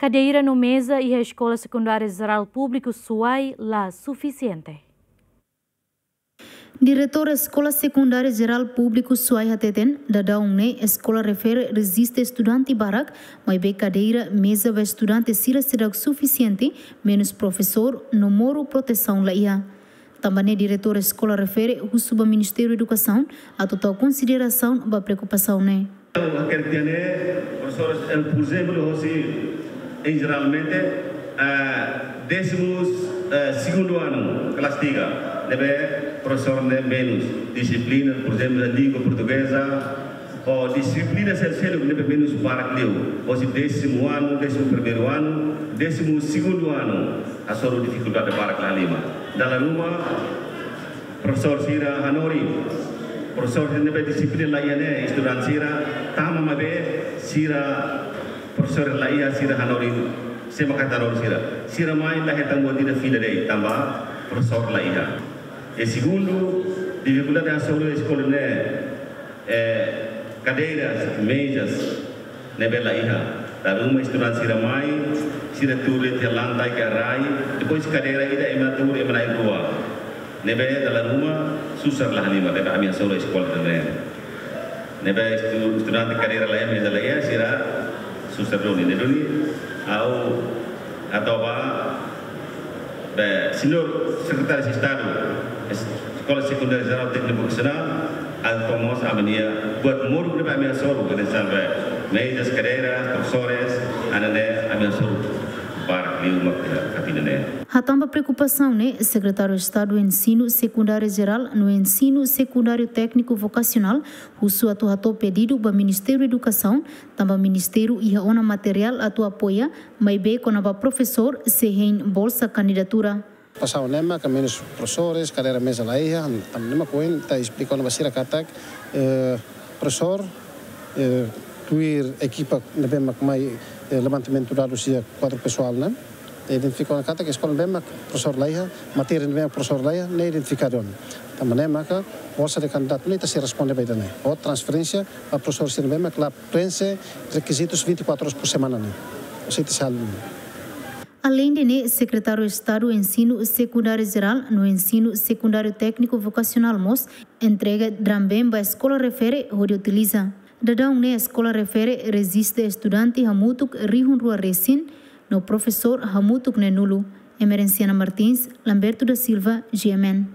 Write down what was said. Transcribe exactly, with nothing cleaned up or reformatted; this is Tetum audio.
Kadeira no meza iha Eskola Sekundária Jerál Públiku Suai la sufisiente. Diretór Eskola Sekundária Jerál Públiku Suai hateten, daudaun ne'e eskola refere reziste estudante barak, maibé kadeira, meza ba estudante sira seidauk sufisiente, menus profesór, no moru protesaun la iha. Tanba ne'e diretór eskola refere husu ba Ministériu Edukasaun atu tau konsiderasaun ba preokupasaun ne'e. Ha'u hakarak dehan ne'e, profesores, eh, por ezemplu, hosi em jeralmente, ah, décimo, eh, segundo ano, kelas tiga, ne'ebé profesór ne'e menus, disiplina, por ezemplu, língua portugeza, ou disiplina seluk-seluk ne'ebé menus barak liu, hosi décimo ano, décimo primeiro ano, décimo segundo ano, hasoru difikuldade barak la halimar. Dala ruma, profesór sira hanorin, profesór sira ne'ebé disiplina la iha ne'e, estudante sira tama maibé sira, profesór la iha, sira hanorin, sé mak hanorin sira. Sira mai la hetan buat ida fila de'it tanba profesór la iha. E segundu, difikuldade hasoru eskola ne'e, eh, kadeiras, mezas, ne'ebé la iha. Dala ruma estudante sira mai, sira tuur iha lantai ka rai, depois kadeira ida ema tuur, ema na'in rua. Ne'ebé dala ruma susar la halimar, ne'ebé ami hasoru eskola ne'e. Ne'ebé estu-, estudante kadeira la iha, meza la iha, sira susar duni. Ne'e duni, ha'u hato'o ba, be, señór Sekretáriu Estadu, Es-, Eskola Sekundária Jerál Tékniku Vokasionál, atu tau mós ami-nia buat moruk ne'ebé ami hasoru, hanesan be, mezas, kadeiras, profesores, hanesan ne'e ami hasoru barak liu mak iha kapinan ne'e. Hatán ba preokupasaun ne'e, Sekretáriu Estadu Ensinu Sekundáriu Jerál no Ensinu Sekundáriu Tékniku Vokasionál, husu atu hato'o pedidu ba Ministériu Edukasaun, tanba ministériu iha ona materiál atu apoia, maibé kona-ba profesór sei hein bolsa kandidatura. Preokupasaun ne'e mak menus profesores, kadeira, meza la iha, tanba ne'e mak ohin ita esplika ona ba sira katak, eh, profesór, eh, tuir ekipa ne'ebé mak mai, eh, levantamentu dadus iha kuadru pesoál ne'e, identifika ona katak eskola ne'ebé mak profesór la iha, matéria ne'ebé mak profesór la iha, ne'e identifikadu ona. Tanba ne'e maka bolsa de kandidatu ne'e ita sei responde ba ida-ne'e. Ou transferénsia ba profesór sira ne'ebé mak la prenxe rekizitus vinte e quatro horas por semana ne'e. Ou seja, ita sei halo. Aleinde ne'e, Sekretáriu Estadu Ensinu Sekundáriu Jerál no Ensinu Sekundáriu Tékniku Vokasionál mós entrega dramben ba eskola refere hodi utiliza. Daudaun ne'e eskola refere reziste estudante hamutuk rihun rua resin, no profesór hamutuk neen-nulu. Emerenciana Martins, Lamberto da Silva, G M N.